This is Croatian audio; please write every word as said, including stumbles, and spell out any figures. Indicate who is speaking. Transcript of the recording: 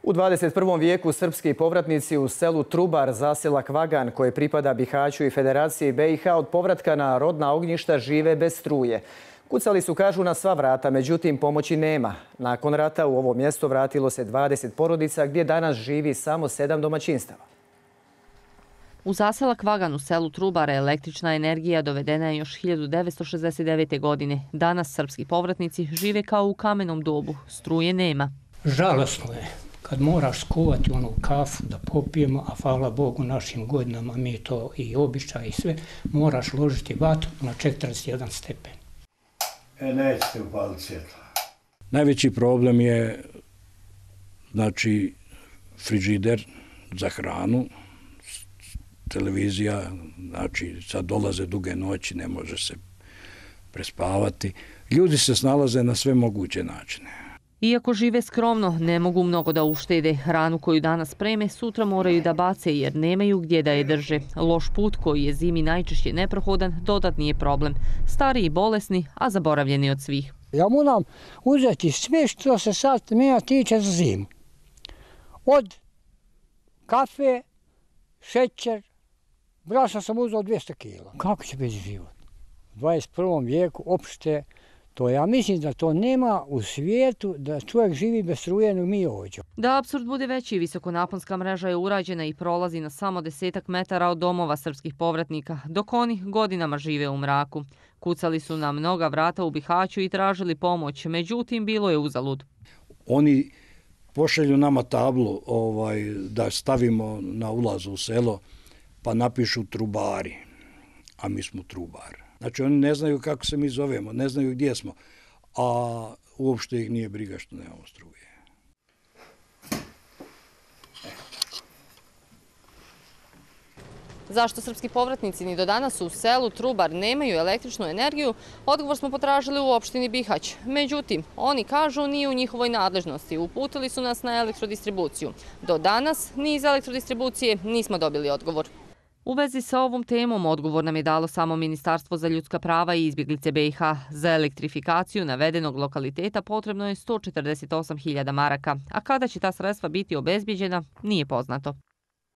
Speaker 1: U dvadeset prvom vijeku srpski povratnici u selu Trubar, zaselak Vagan, koje pripada Bihaću i Federaciji B i H, od povratka na rodna ognjišta žive bez struje. Kucali su, kažu, na sva vrata, međutim pomoći nema. Nakon rata u ovo mjesto vratilo se dvadeset porodica, gdje danas živi samo sedam domaćinstava.
Speaker 2: U zaselak Vagan u selu Trubara električna energija dovedena je još hiljadu devetsto šezdeset devete. godine. Danas srpski povratnici žive kao u kamenom dobu. Struje nema.
Speaker 3: Žalosno je kad moraš skuvati onu kafu da popijemo, a hvala Bogu našim godinama mi to i običaj i sve, moraš ložiti vatru na četrdeset jedan stepen.
Speaker 4: E, nećete upaliti svjetla.
Speaker 5: Najveći problem je, znači, frižider za hranu, televizija, znači sad dolaze duge noći, ne može se prespavati. Ljudi se snalaze na sve moguće načine.
Speaker 2: Iako žive skromno, ne mogu mnogo da uštede. Hranu koju danas preme, sutra moraju da bace jer nemaju gdje da je drže. Loš put koji je zimi najčešće neprohodan, dodatni je problem. Stari i bolesni, a zaboravljeni od svih.
Speaker 6: Ja moram uzeti sve što se sad mene tiče za zimu. Od kafe, šećer, brašna sam uzeo dvjesto kila. Kako će biti život? U dvadeset prvom vijeku opšte to, ja mislim da to nema u svijetu da čovjek živi bez struje nego mi ovdje.
Speaker 2: Da apsurd bude veći, visokonaponska mreža je urađena i prolazi na samo desetak metara od domova srpskih povratnika, dok oni godinama žive u mraku. Kucali su na mnoga vrata u Bihaću i tražili pomoć, međutim bilo je uzalud.
Speaker 5: Oni pošalju nama tablu ovaj, da stavimo na ulazu u selo, pa napišu Trubari, a mi smo Trubar. Znači oni ne znaju kako se mi zovemo, ne znaju gdje smo, a uopšte ih nije briga što nemamo struje.
Speaker 2: Zašto srpski povratnici ni do danas u selu Trubar nemaju električnu energiju, odgovor smo potražili u opštini Bihać. Međutim, oni kažu nije u njihovoj nadležnosti. Uputili su nas na elektrodistribuciju. Do danas ni iz elektrodistribucije nismo dobili odgovor. U vezi sa ovom temom odgovor nam je dalo samo Ministarstvo za ljudska prava i izbjeglice B i H. Za elektrifikaciju navedenog lokaliteta potrebno je sto četrdeset osam hiljada maraka, a kada će ta sredstva biti obezbijeđena nije poznato.